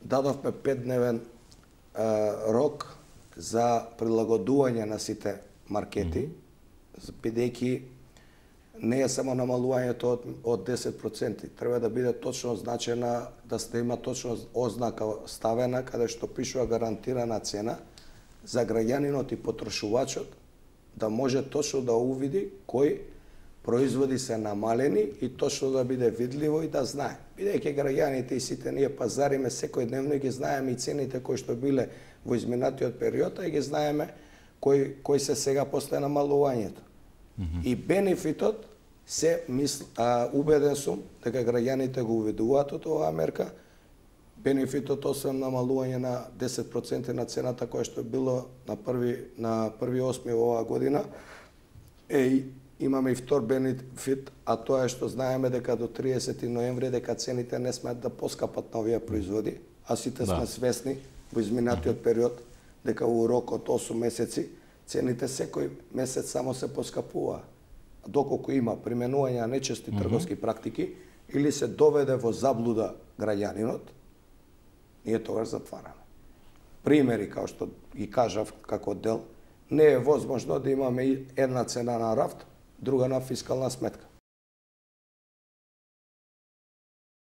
дадовме 5-дневен рок за прилагодување на сите маркети, бидејќи не е само намалувањето од 10%, треба да биде точно означена, да има точно ознака ставена каде што пишува гарантирана цена за граѓанинот и потрошувачот да може точно да увиди кои производи се намалени и точно да биде видливо и да знае. Бидејќи граѓаните и сите ние пазариме секојдневно и ги знаеме и цените кои што биле во изминатиот период, и ги знаеме кои се сега после намалувањето. И бенефитот се убеден сум дека граѓаните го увидуваат од оваа мерка. Бенефитот освен намалување на 10% на цената која што било на 1.8. оваа година, имаме и втор бенефит, а тоа е што знаеме дека до 30 ноември дека цените не смеат да поскапат на овие производи, а сите сме свесни во изминатиот период дека во рок од 8 месеци цените секој месец само се поскапува. Доколку има применување на нечести трговски практики или се доведе во заблуда граѓанинот, ние тогаш затвараме. Примери, као што ги кажав како дел, не е возможно да имаме една цена на рафт, друга на фискална сметка.